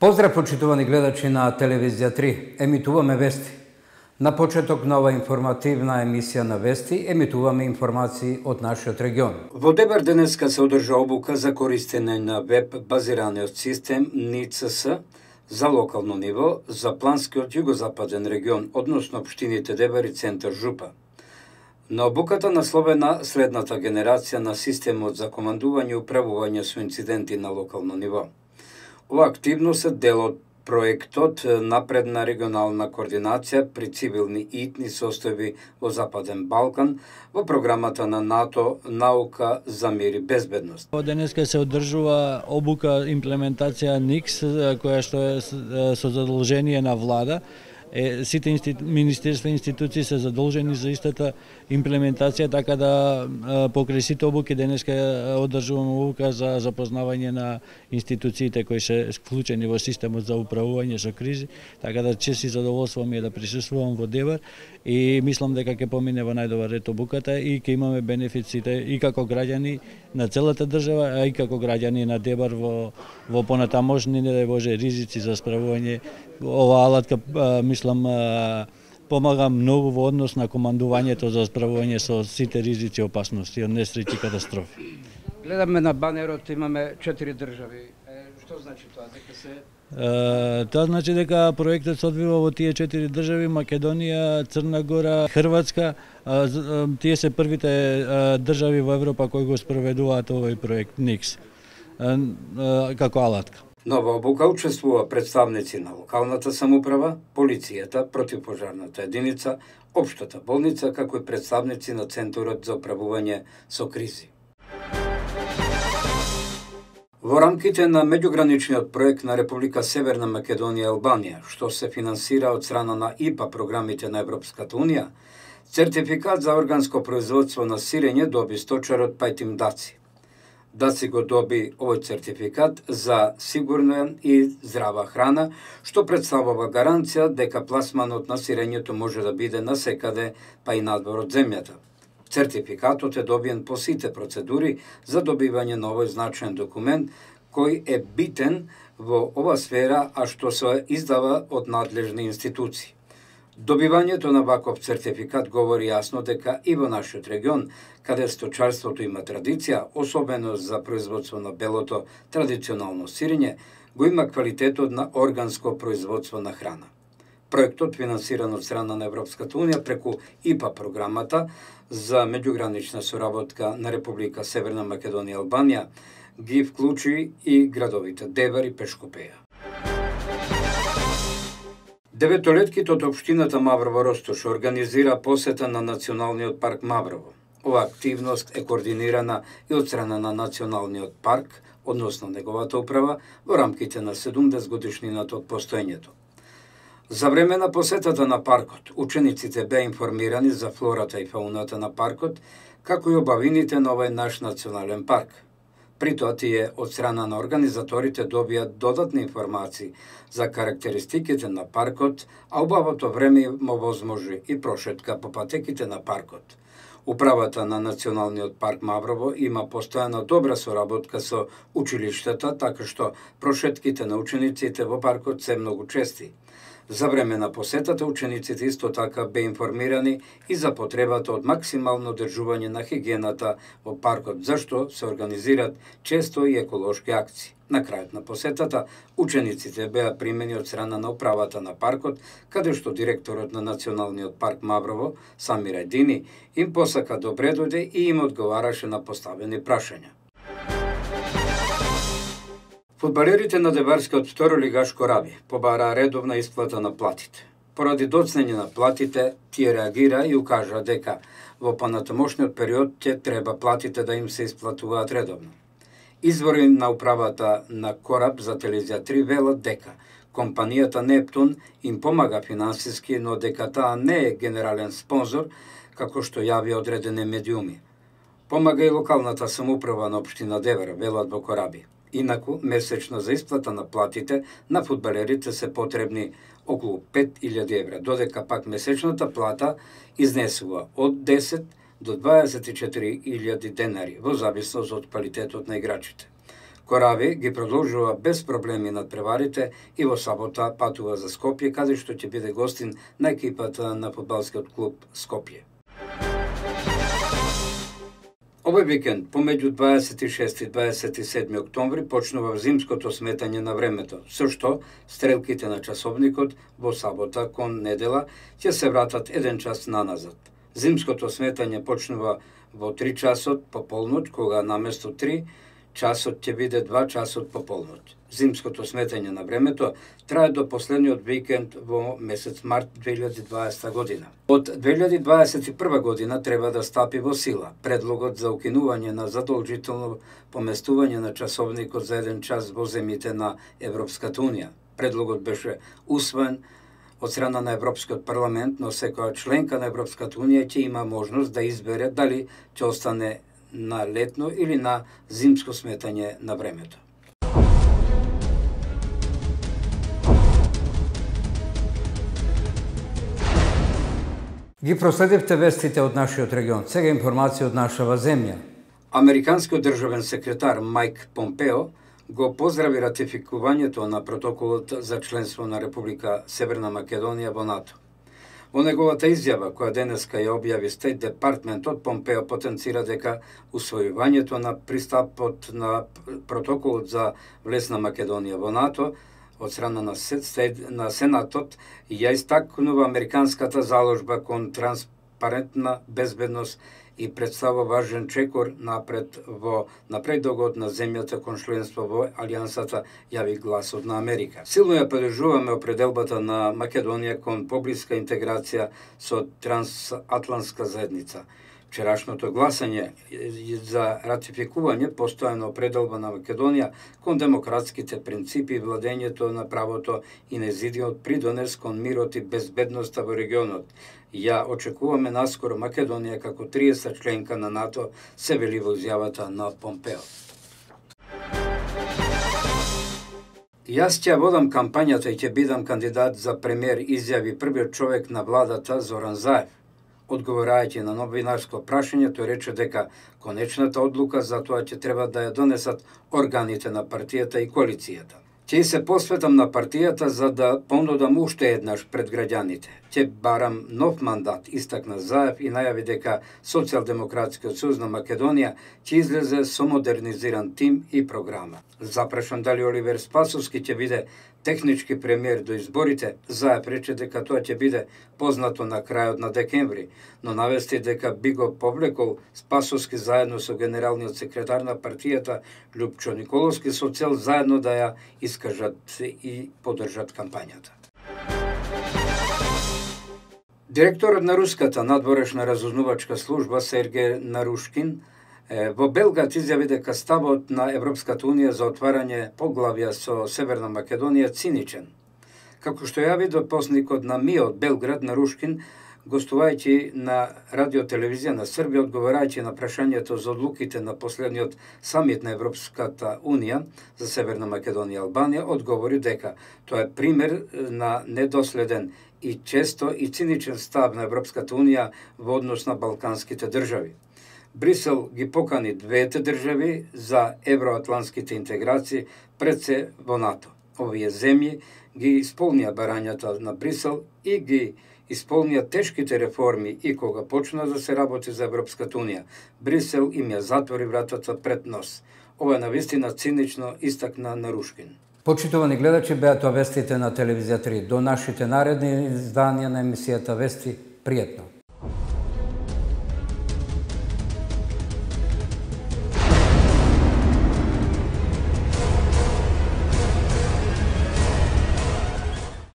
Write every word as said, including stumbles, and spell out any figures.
Поздрав, почитувани гледачи на Телевизија три. Емитуваме вести. На почеток на ова информативна емисија на вести, емитуваме информации од нашиот регион. Во Дебар денеска се одржа обука за користење на веб-базираниот систем Н И Ц С за локално ниво за планскиот југозападен регион, односно општините Дебар и Центар Жупа. На обуката насловена следната генерација на системот за командување и управување со инциденти на локално ниво. Ова активност е дел од проектот Напредна регионална координација при цивилни и итни состојби во Западен Балкан во програмата на НАТО Наука за мир и безбедност. Денеска се одржува обука имплементација Н И К С, која што е со задолжение на влада. Е, сите институ... министерства и институции се задолжени за истата имплементација, така да покрај сите обуки денеска одржуваме обука за запознавање на институциите кои се вклучени во системот за управување со кризи, така да чест и задоволство ми е да присуствувам во Дебар и мислам дека ќе помине во најдобар ред обуката и ќе имаме бенефиците и како граѓани на целата држава, а и како граѓани на Дебар во, во понатамошни, не дај Боже, ризици за справување. Ова алатка, мислам, помага многу во однос на командувањето за справување со сите ризици и опасности од несреќи и катастрофи. Гледаме на банерот, имаме четири држави. Што значи тоа? Дека се Uh, тоа значи дека проектот се одвива во тие четири држави: Македонија, Црна Гора, Хрватска. Uh, uh, тие се првите uh, држави во Европа кои го спроведуваат овој проект Н И К С uh, uh, како алатка. На ова обука учествува представници на локалната самоуправа, полицијата, противпожарната единица, општата болница, како и представници на Центарот за управување со кризи. Во рамките на меѓуграничниот проект на Република Северна Македонија и Албанија, што се финансира од страна на И П А програмите на Европската Унија, сертификат за органско производство на сирење доби сточарот Пајтим Даци. Даци го доби овој сертификат за сигурна и здрава храна, што представува гаранција дека пласманот на сирењето може да биде насекаде, па и надвор од земјата. Сертификатот е добиен по сите процедури за добивање на овој значаен документ, кој е битен во ова сфера, а што се издава од надлежни институции. Добивањето на ваков сертификат говори јасно дека и во нашиот регион, каде сточарството има традиција, особено за производство на белото традиционално сирење, го има квалитетот на органско производство на храна. Проектот, финансиран од страна на Европската Унија преку И П А програмата за меѓугранична соработка на Република Северна Македонија и Албанија, ги вклучи и градовите Дебар и Пешкопеја. Деветолетките од општината Маврово Ростош организира посета на Националниот парк Маврово. Ова активност е координирана и од страна на Националниот парк, односно неговата управа, во рамките на седумдесет годишнината од постоењето. За време на посетата на паркот, учениците беа информирани за флората и фауната на паркот, како и обавините на овој наш национален парк. При тоа тие од страна на организаторите добија додатни информации за карактеристиките на паркот, а убавото време им овозможи и прошетка по патеките на паркот. Управата на Националниот парк Маврово има постојана добра соработка со училиштата, така што прошетките на учениците во паркот се многу чести. За време на посетата, учениците исто така бе информирани и за потребата од максимално одржување на хигиената во паркот, зашто се организираат често и еколошки акции. На крајот на посетата, учениците беа примени од страна на управата на паркот, каде што директорот на Националниот парк Маврово, Самир Едини, им посака добре дојде и им одговараше на поставени прашања. Фудбалерите на Дебарскиот второлигаш Кораби побараа редовна исплата на платите. Поради доцнење на платите, тие реагира и укажа дека во понатамошниот период ќе треба платите да им се исплатуваат редовно. Извори на управата на Кораб за Телевизија три велат дека компанијата Нептун им помага финансиски, но дека таа не е генерален спонзор, како што јавија одредени медиуми. Помага и локалната самоуправа на општина Дебар, велат во Кораби. Инаку, месечно за исплата на платите на фудбалерите се потребни околу пет илјади евра, додека пак месечната плата изнесува од десет до дваесет и четири илјади денари, во зависност од квалитетот на играчите. Корави ги продолжува без проблеми над преварите и во сабота патува за Скопје, каде што ќе биде гостин на екипата на фудбалскиот клуб Скопје. Овој викенд, помеѓу дваесет и шести и дваесет и седми октомври, почнува зимското сметање на времето, со што стрелките на часовникот во сабота кон недела ќе се вратат еден час наназад. Зимското сметање почнува во три часот по полноќ, кога наместо три часот ќе биде два часот по полноќ. Зимското сметање на времето трае до последниот викенд во месец март две илјади и дваесета година. Од две илјади дваесет и прва година треба да стапи во сила предлогот за укинување на задолжително поместување на часовникот за еден час во земјите на Европската унија. Предлогот беше усвоен од страна на Европскиот парламент, но секоја членка на Европската унија ќе има можност да избере дали ќе остане на летно или на зимско сметање на времето. Ги проследивте вестите од нашиот регион. Сега информација од нашава земја. Американскиот државен секретар Майк Помпео го поздрави ратификувањето на протоколот за членство на Република Северна Македонија во НАТО. Во неговата изјава, која денеска ја објави Стейт Департментот, Помпео потенцира дека усвојувањето на пристапот на протоколот за влез на Македонија во НАТО од страна на, на Сенатот ја истакнува американската заложба кон транспарентна безбедност и представува важен чекор напред во напредогот на земјата кон членство во Алијансата, јави Гласот на Америка. Силно ја поддржуваме определбата на Македонија кон поблиска интеграција со трансатлантска заедница. Вчерашното гласање за ратификување постојана определба на Македонија кон демократските принципи и владењето на правото и незидниот придонес кон мирот и безбедноста во регионот. Ја очекуваме наскоро Македонија како триесета членка на НАТО, се вели во изјавата на Помпео. Јас ќе водам кампањата и ќе бидам кандидат за премиер, изјави првиот човек на владата Зоран Заев. Одговорајќи на новинарско прашање, тој рече дека конечната одлука за тоа ќе треба да ја донесат органите на партијата и коалицијата. Ќе се посветам на партијата за да понудам уште еднаш пред граѓаните. Ќе барам нов мандат, истакна Заев и најави дека Социјалдемократскиот сојуз на Македонија ќе излезе со модернизиран тим и програма. Запрашан дали Оливер Спасовски ќе биде технички премиер до изборите, Заев рече дека тоа ќе биде познато на крајот на декември, но навести дека би го повлекол Спасовски заедно со генералниот секретар на партијата Љупчо Николовски со цел заедно да ја искажат и поддржат кампањата. Директорот на руската надворешна разузнавачка служба Сергеј Нарушкин во Белград изјави дека ставот на Европската унија за отварање поглавја со Северна Македонија циничен. Како што јави допосникот на МИ од Белград, Нарушкин, гостувајќи на радиотелевизија на Србија, одговарајќи на прашањето за одлуките на последниот самит на Европската унија за Северна Македонија и Албанија, одговори дека тоа е пример на недоследен и често и циничен став на Европската унија во однос на балканските држави. Брисел ги покани двете држави за евроатлантските интеграции пред се во НАТО. Овие земји ги исполнија барањата на Брисел и ги исполнија тешките реформи и кога почна да се работи за Европската унија. Брисел им ја затвори вратата пред нос. Ова е навистина цинично, истакна Нарушкин. Почитувани гледачи, беа тоа вестите на телевизија три. До нашите наредни изданија на емисијата Вести, пријатно.